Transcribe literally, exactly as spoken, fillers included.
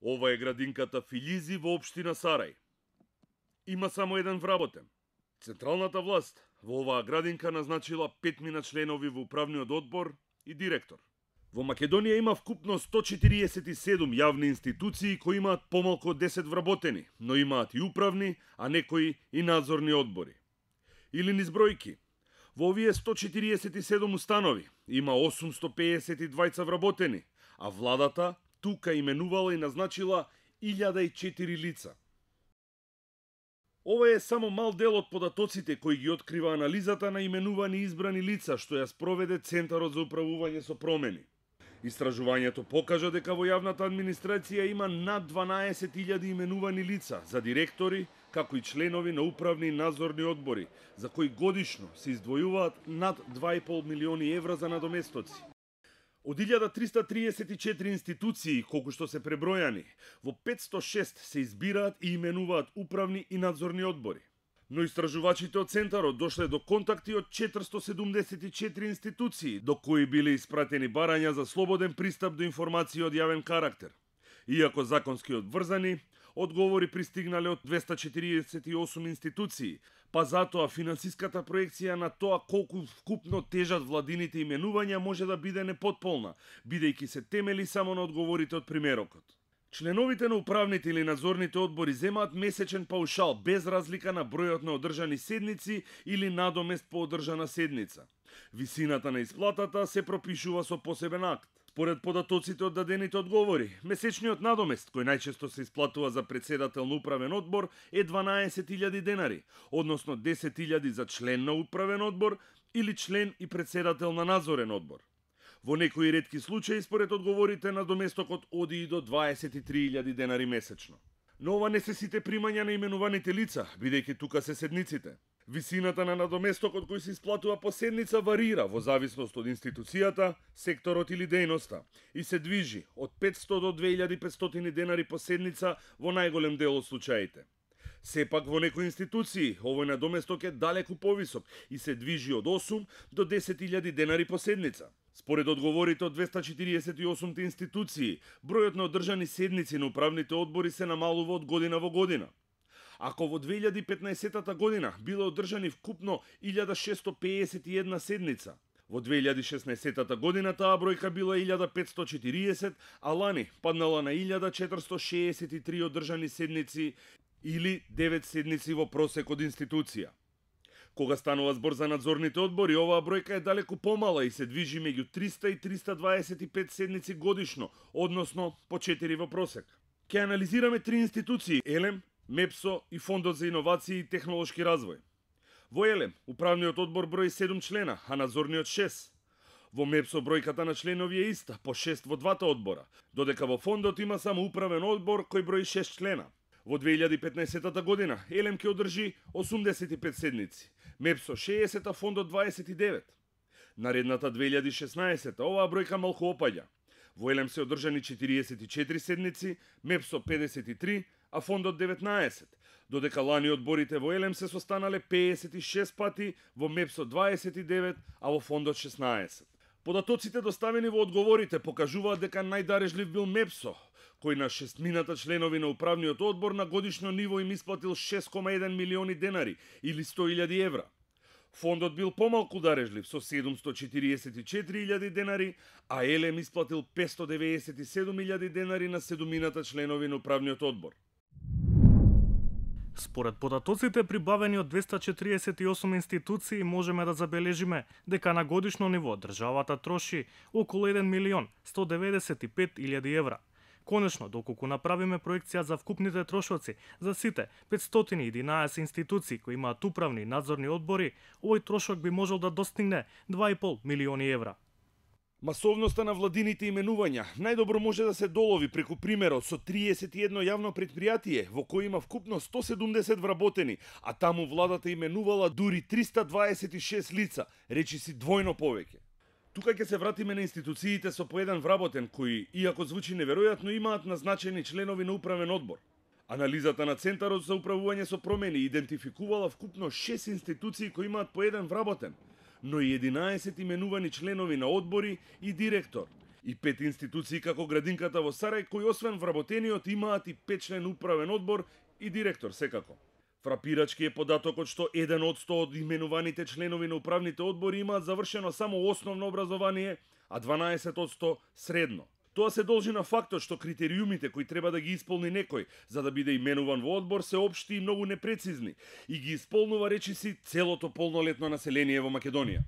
Ова е градинката Филјизи во општина Сарај. Има само еден вработен. Централната власт во оваа градинка назначила петмина членови во управниот одбор и директор. Во Македонија има вкупно сто четириесет и седум јавни институции кои имаат помалку од десет вработени, но имаат и управни, а некои и надзорни одбори. Или низ бројки. Во овие сто четириесет и седум установи има осумсто пеесет и двајца вработени, а владата тука именувала и назначила илјада и четири лица. Ова е само мал дел од податоците кои ги открива анализата на именувани избрани лица што ја спроведе Центарот за управување со промени. Истражувањето покажа дека во јавната администрација има над дванаесет илјади именувани лица за директори, како и членови на управни и надзорни одбори, за кои годишно се издвојуваат над два и пол милиони евра за надоместоци. Од илјада триста триесет и четири институции, колку што се пребројани, во петсто и шест се избираат и именуваат управни и надзорни одбори. Но истражувачите од Центарот дошле до контакти од четиристо седумдесет и четири институции, до кои биле испратени барања за слободен пристап до информации од јавен карактер. Иако законски одврзани, одговори пристигнале од двеста четириесет и осум институции, па затоа финансиската проекција на тоа колку вкупно тежат владините именувања може да биде непотполна, бидејќи се темели само на одговорите од примерокот. Членовите на управните или надзорните одбори земаат месечен паушал без разлика на бројот на одржани седници или надомест по одржана седница. Висината на исплатата се пропишува со посебен акт. Според податоците од дадените одговори, месечниот надомест, кој најчесто се исплатува за председател на управен одбор, е дванаесет илјади денари, односно десет илјади за член на управен одбор или член и председател на надзорен одбор. Во некои ретки случаи, според одговорите, надоместокот оди и до дваесет и три илјади денари месечно. Но ова не се сите примања на именуваните лица, бидејќи тука се седниците. Висината на надоместокот кој се исплатува по седница варира во зависност од институцијата, секторот или дејноста и се движи од петсто до две илјади и петстотини денари по седница во најголем дел од случаите. Сепак во некои институции овој надоместок е далеку повисок и се движи од осум до десет илјади денари по седница. Според одговорите од двеста четириесет и осум институции, бројот на одржани седници на управните одбори се намалува од година во година. Ако во две илјади и петнаесетта година биле одржани вкупно илјада шестsto пеесет и една седница, во две илјади и шеснаесетта година таа бројка била илјада петсто и четириесет, а лани паднала на илјада четиристо шеесет и три одржани седници или девет седници во просек од институција. Кога станува збор за надзорните одбори, оваа бројка е далеку помала и се движи меѓу триста и триста дваесет и пет седници годишно, односно по четири во просек. Ке анализираме три институции: Елем, МЕПСО и Фондот за иновации и технолошки развој. Во Елем, управниот одбор брои седум члена, а надзорниот шест. Во МЕПСО бројката на членови е иста, по шест во двата одбора, додека во Фондот има само управен одбор кој брои шест члена. Во две илјади и петнаесетта година Елем ќе одржи осумдесет и пет седници, МЕПСО шеесет, а Фондот дваесет и девет. Наредната две илјади и шеснаесетта оваа бројка малку опаѓа. Во Елем се одржани четириесет и четири седници, МЕПСО педесет и три, а Фондот деветнаесет, додека лани одборите во Елем се состанале пеесет и шест пати, во МЕПСО дваесет и девет, а во Фондот шеснаесет. Податоците доставени во одговорите покажуваат дека најдарежлив бил МЕПСО, кој на шестмината членови на управниот одбор на годишно ниво им исплатил шест кoma еден милиони денари или сто илјади евра. Фондот бил помалку дарежлив со седумсто четириесет и четири илјади денари, а Елем исплатил петсто деветдесет и седум илјади денари на седумината членови на управниот одбор. Според податоците прибавени од двеста четириесет и осум институции, можеме да забележиме дека на годишно ниво државата троши околу еден милион сто деветдесет и пет илјади евра. Конечно, доколку направиме проекција за вкупните трошоци за сите петстотини и единаесет институции кои имаат управни и надзорни одбори, овој трошок би можел да достигне два и пол милиони евра. Масовноста на владините именувања најдобро може да се долови преку примерот со триесет и едно јавно претпријатие во кој има вкупно сто седумдесет вработени, а таму владата именувала дури триста дваесет и шест лица, речиси двојно повеќе. Тука ќе се вратиме на институциите со по еден вработен кои, иако звучи неверојатно, имаат назначени членови на управен одбор. Анализата на Центарот за управување со промени идентификувала вкупно шест институции кои имаат по еден вработен, но и единаесет именувани членови на одбори и директор, И пет институции како градинката во Сарај, кои освен вработениот имаат и петчлен управен одбор и директор секако. Фрапирачки е податокот што еден од сто од именуваните членови на управните одбори имаат завршено само основно образование, а дванаесет од сто средно. Тоа се должи на фактот што критериумите кои треба да ги исполни некој за да биде именуван во одбор се општи и многу непрецизни и ги исполнува речиси целото полнолетно население во Македонија.